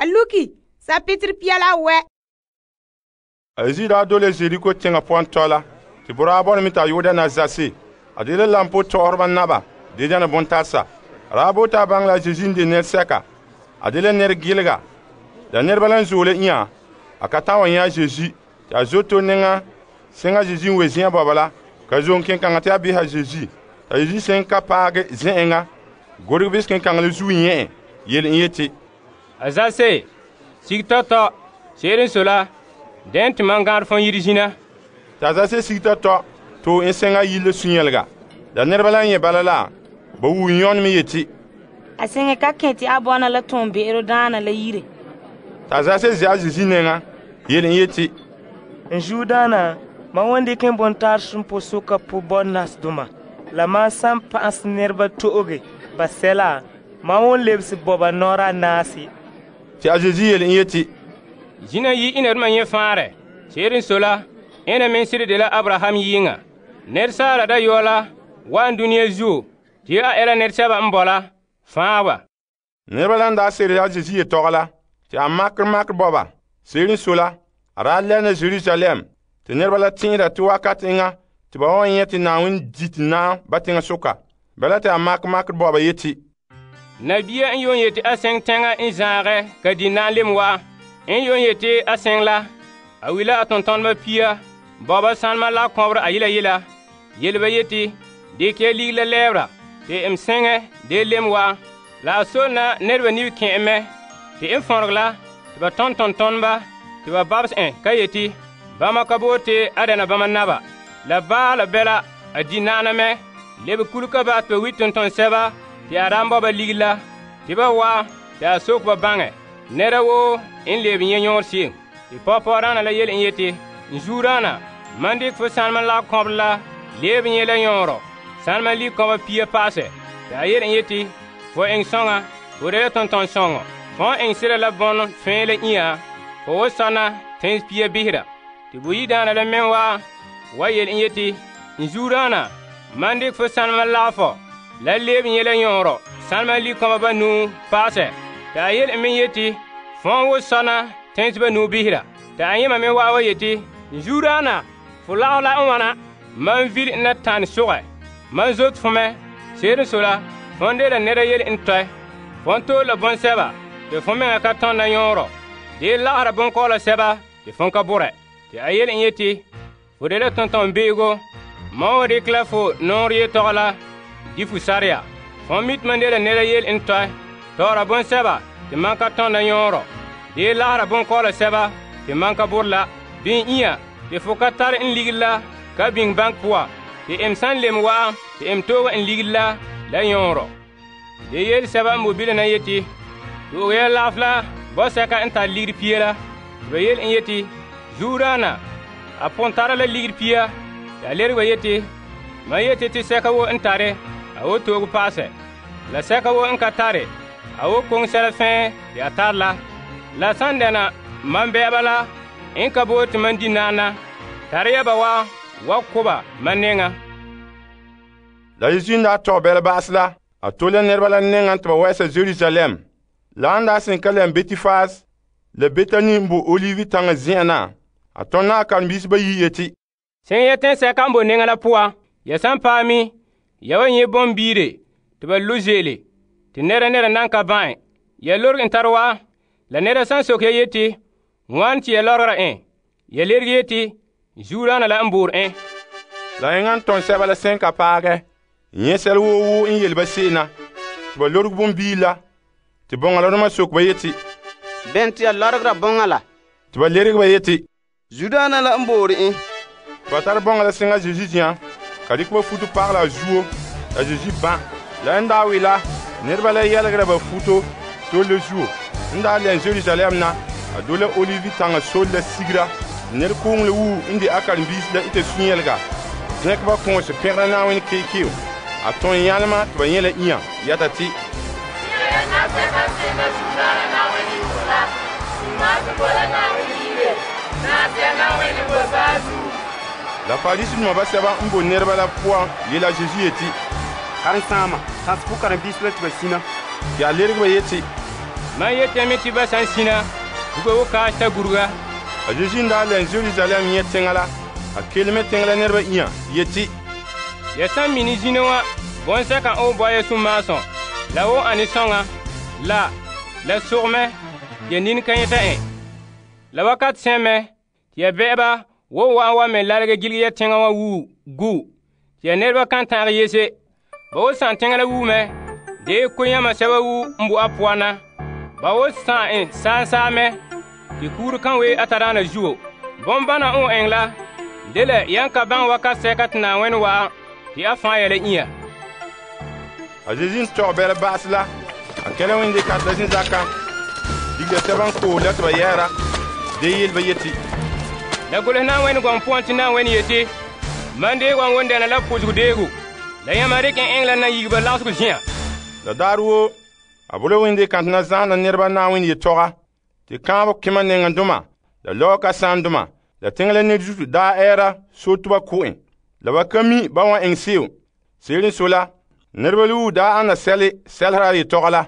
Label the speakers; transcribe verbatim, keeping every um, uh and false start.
Speaker 1: A luki sapitiri pia la wɛ.
Speaker 2: A Yesu daa dole Jeriko teŋa poan tɔla. Te boraa bɔna mɛ ta yu'uda na zase. A dela lampo tɔgɔreba naba de dɛna bontarsa. A daa bote a baŋɛ la Yesu n de nɛresɛka. A dela nɛregilega. La nɛreba la n zoole inya. A ka ta'an wa nyɛ Yesu. Te a zoto nɛŋa seŋa Yesu n we zen'an bɔba la. Ka zom kenkaŋa te a beha Yesu. Ta Yesu sen ka paage zɛ'ɛŋa. Gorege bis kenkaŋa la zuo nyɛ en. Yele en yeti.
Speaker 3: A zase, sig tɔtɔ, se'ere n so la, dɛn te mam gãarɛ fɔn yire zina.
Speaker 2: Ta zase sig tɔtɔ, to en seŋa yile sunyɛlega. La nɛreba la n nyɛ bala la, ba wu yɔn me yeti.
Speaker 4: A seŋe ka kẽ te a bɔna la tõon be'ero daana la yire.
Speaker 2: Ta zase zɛa Yesu nɛŋa, yele en yeti.
Speaker 5: N zuodaana, ma wan dikɛ n bontaresom posoka po bɔnasdoma, la mam san pa'asɛ nɛreba to'oge ba sɛla, ma wan lebese bɔba nɔra naase.
Speaker 2: Te a Yesu yele en yeti.
Speaker 3: Zina yi inaduma nyɛ faarɛ. Se'ere n so la, ena me sire de la Abraham yiŋa. Nɛresaala dayɔɔ la wa'an duniya zuo, te a ɛla nɛresɛba n bɔ la, fãa ba.
Speaker 2: Nɛreba la n daa sere a Yesu yetɔgɔ la, te a makere makere bɔba. Se'ere n so la, a daa lɛna Jerusalem, te nɛreba la tẽera te wakat eŋa te ba wan nyɛ te Na'ayenɛ di te naam ba teŋa soka. Bala te a makere makere bɔba yeti.
Speaker 3: Nabia n yon yeti a sɛŋ tɛŋa n zaagɛ ka di na'alem wa. En yon yeti a sɛŋ la, a wila a tontoneba pia, bɔba sanema la kɔbere a yela yela. Yele ba yeti, deke ya ligiri la lɛɛbera, te m sɛŋɛ de lem wa. La a sol na nɛreba nibi kẽ'ɛ mɛ, te n fɔrege la, te ba tɔn tontoneba, te ba babes en ka yeti, bama ka boote a dɛna bama naba. La baa la bɛla, a di na'ana mɛ, lebe kulika ba te ba wi tonton-sɛba, te a daan bɔba ligiri la, te ba wa, te a sok ba baŋɛ. Nɛra woo n lebe nyɛ yõor se'em. Te pɔgepɔgɔdaana la yele n yeti, n zuodaana, mam dikɛ fo sanema la kɔbere la lebe nyɛ la yõorɔ, sanema li kɔba pia paasɛ. Te a yele n yeti, fo eŋɛ sɔŋa, fo de la tonton-sɔŋɔ. Fɔn eŋɛ sera la bɔnɔ fẽe la inya, fo wo sɔna tẽns pia bisera. Te boyidaana la meŋ wa wa yele n yeti, n zuodaana, mam dikɛ fo sanema lagefɔ la lebe nyɛ la yõorɔ, sanema li kɔba banuu paasɛ. Te a yele n meŋ yeti, fɔn wo sɔna tẽns banuu bisera. Te a yẽma me wa wa yeti, n zuodaana, fo lagef la n wana, mam vili n na tãne sogɛ. Mam zote fo mɛ, se'ere n so la, fõn de la nɛra yele n tɔɛ. Fõn toor la bõn-sɛba, te fo meŋa ka tõnda yõorɔ. De lagera bonkɔɔla sɛba, te fõn ka borɛ. Te a yele n yeti, fo de la tonton-be'ego, mam wa dikɛ la fo nɔɔrɛ yetɔgɔ la di fo sareya. Fõn mi tɩ mam de la nɛra yele n tɔɛ, tɔgɔra bõn-sɛba te mam ka tõnda yõorɔ. De lagera bonkɔɔla sɛba te mam ka borɛ la. Bɩ inya te fo ka tare n ligiri la ka biŋ bank poa. Te em san lem wa'am te em tooga n ligiri la la yõorɔ. De yele sɛba n bo bilã na yeti, to'oge ya lagef la bɔsɛka n tare ligiri pia la. Te ba yele n yeti, zuodaana, a pʋgẽ tara la ligiri pia. Te a lereg ba yeti, mam yeti te sɛka wo n tare, a wo toog paasɛ. La sɛka wo n ka tare, a wo koŋ sɛla fɛɛ te a tare la. La san dɛna mam bɛɛba la n ka boore tɩ mam di naana, tare ya ba wa wa koba mam nɛŋa.
Speaker 2: La Yesu n daa tɔg bɛla ba'as la, a tole la nɛreba la nɛŋa tɩ ba wɛɛsa Jerusalem. La an daa sẽn ka lɛm Betifas la Betani n bo Olivi taŋa zen'an na, a tõnd na a karen-biisi bayi yeti,
Speaker 3: sẽn ya tẽn-sɛka n bo nɛŋa la poa, ya san paam mi, ya wa nyɛ bõn-biire tɩ ba lo zeele, tɩ nɛra nɛra nan ka bãe. Ya lorg n tar wa, la nɛra san sok ya yeti, wãn tɩ ya lɔrgra ẽ, ya lerg yeti, zuodaana la n boor ẽ.
Speaker 2: La yẽngã n tõnd sɛba la sẽn ka paagɛ, yẽ sɛl woo woo n yel ba se'ena, tɩ ba lorg bõn-biil la, tɩ bõngalema sok ba yeti,
Speaker 6: bẽn tɩ ya lɔrgra bõnga la?
Speaker 2: Tɩ ba lerg ba yeti,
Speaker 6: zuodaana la n boor ẽ.
Speaker 2: Tɩ ba tar bõnga la sẽnga Zeezi zĩã, ka dɩk ba futo pagla a zuo, la Zeezi bã. La n daa we la, nɛreba la yɛlgra ba futo tol le zuo. N daa lɛn Jerusalem na, a do la Olivi taŋa sol la sigira. Ned koongle wuu n de a karen-biisi la ita sũ-yɛlga. Zẽk ba kõose pẽgda Na'ayenɛ keekeo. A tõe yãlema tɩ ba yẽ la inya yɛta tɩ la Farisidoma basɛba n bo nɛreba la poan yela Zeezi yeti,
Speaker 6: karen-sãama, tãs fo karen-biisi la tɩ ba sina.
Speaker 2: tɩ a lerg ba yeti,
Speaker 3: Mam yetame tɩ ba san sina, buga wo kaas ta guruga.
Speaker 2: A Zeezi n daa lɛn Jerusalem yẽ teŋa la, a kelme teŋa la nɛreba inya yeti,
Speaker 3: Ya san mini zina wa, bɔnsɛka n bɔ ya sũmaasõ, la wo ane sɔŋa, la, la sogmɛ, ya nin ka yẽta en. La wakat sẽn tɩ ya bɛ'ɛba wo wa'an wa me larege giligi ya teŋa wa wuu gu, tɩ ya nɛreba kan ta'ag yese. Ba wo sãn teŋa la wuume, dee ko-yãma sɛba wu n bo a poan na. Ba wo sãn en saan-saamɛ, tɩ kuur kan we a tadaana zuo. Bõn-bãna n eng la, dela yan ka baŋɛ wakat sɛka tɩ Na'ayenɛ wa'an tɩ a fãa ya la inya.
Speaker 2: A Zeezi n tɔg bɛla ba'as la, a kɛla wẽnde kat la zĩnzaka, digla sɛba n koos la tɩ ba yɛɛra, dee yel ba yeti,
Speaker 3: La golse Na'ayenɛ gɔŋ poan tɩ Na'ayenɛ yeti, mam deeg wa won dɛna la posg deego, la yãmba rɩk n eng la nayigiba lagsg zĩ'an.
Speaker 2: La daar woo, a bola wẽnde kãntɛ na zãana nɛreba Na'ayenɛ yetɔga, tɩ kãabg kẽma nengẽdoma, la lɔɔ kasaandoma, la teŋa la ned zutu daa ɛɛra so tɩ ba ko en. La ba ka mi ba wan eng se'em. Se'ere n so la, nɛreba luwu daa ana sɛle sɛlsera a yetɔga la.